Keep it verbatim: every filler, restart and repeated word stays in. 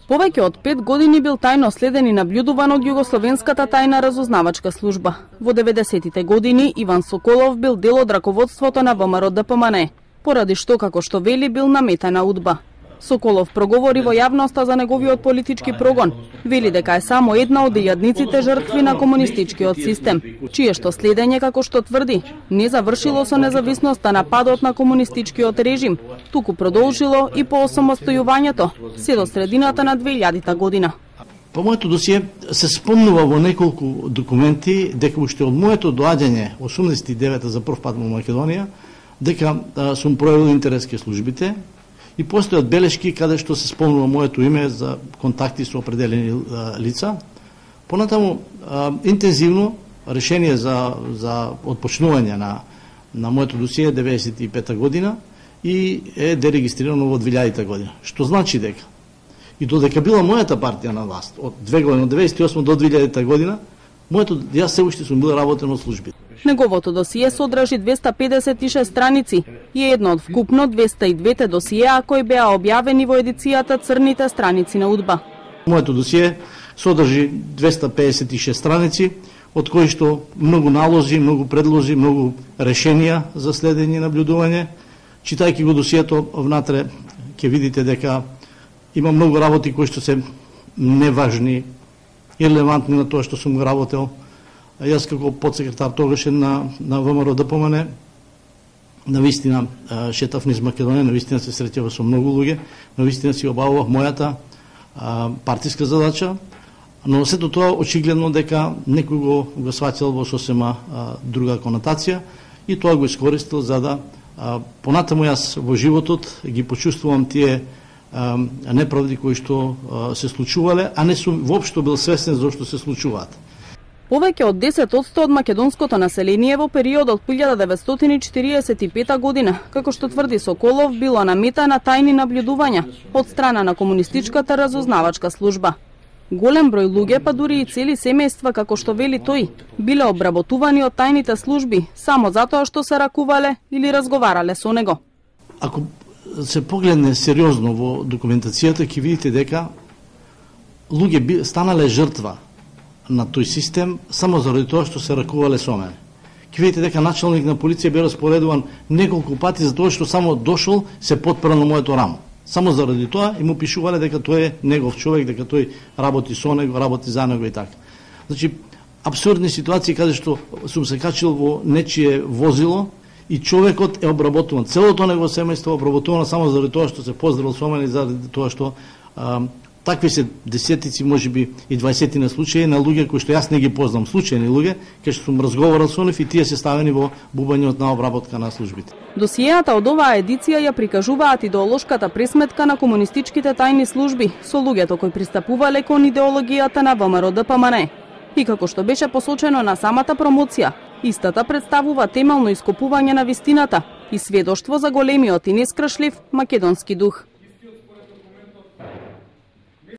Повеќе од пет години бил тајно следен и наблюдуван од Југословенската тајна разузнавачка служба. Во деветдесетите години Иван Соколов бил дел од раководството на ВМРО Д П М Н, поради што, како што вели, бил наметена удба. Соколов проговори во јавноста за неговиот политички прогон. Вели дека е само една од илјадниците жртви на комунистичкиот систем, чие што следење, како што тврди, не завршило со независноста на падот на комунистичкиот режим, туку продолжило и по осамостојувањето, се до средината на две илјадита година. По моето досие се спомнува во неколку документи дека уште од моето доаѓање осумдесет и девета за прв пат во Македонија, дека а, сум проявил интерес ке службите, и постојат белешки каде што се спомнува моето име за контакти со определени а, лица. Понатаму а, интензивно решение за за отпочнување на на моето досие деветдесет и пета година и е дерегистрирано во две илјадита година. Што значи дека и додека била мојата партија на власт од две години, од деветдесет и осма до две илјадита година, моето јас се уште сум бил работен од службите. Неговото досие содржи двеста педесет и шест страници и е едно од вкупно двеста и две досиеа кои беа објавени во едицијата Црните страници на удба. Моето досие содржи двеста педесет и шест страници, од кои што многу налози, многу предлози, многу решенија за следење и наблюдување. Читајќи го досието внатре, ќе видите дека има многу работи кои што се неважни и релевантни на тоа што сум го работел. Јас како подсекретар тогаш на на ВМРО Д П М Н навистина шетав низ Македонија, навистина се среќава со многу луѓе, навистина си обавував мојата а, партиска задача, но сето тоа очигледно дека некој го го сваќал во сосема а, друга конотација и тоа го искористил за да а, понатаму јас во животот ги почувствувам тие а, неправди кои што а, се случувале, а не сум воопшто бил свесен зошто се случуваат. Повеќе од десет одсто од македонското население во периодот од илјада деветстотини и четиридесет и пета година, како што тврди Соколов, било на мета на тајни наблюдувања од страна на комунистичката разузнавачка служба. Голем број луѓе, па дури и цели семејства, како што вели тој, биле обработувани од тајните служби само затоа што се ракувале или разговарале со него. Ако се погледне сериозно во документацијата, ќе видите дека луѓе станале жртва на тој систем само заради тоа што се ракувале со мене. Ќе видите дека началник на полиција бе распоредуван неколку пати за тоа што само дошол се потпра на моето рамо. Само заради тоа и му пишувале дека тој е негов човек, дека тој работи со него, работи за него и така. Значи, апсурдни ситуации каде што сум се качил во нечие возило и човекот е обработуван. Целото негово семејство е обработувано само заради тоа што се поздравил со мене и заради тоа што а, такви се десетици, можеби и дваесетина случаи на луѓе кои што јас не ги познам, случајни луѓе, кај што сум разговарал со нив и тие се ставени во бубањот на обработка на службите. Досиеата од оваа едиција ја прикажуваат идеолошката пресметка на комунистичките тајни служби со луѓето кои пристапувале кон идеологијата на ВМРО Д П М Н. И како што беше посочено на самата промоција, истата представува темелно ископување на вистината и сведоштво за големиот и нескршлив македонски дух.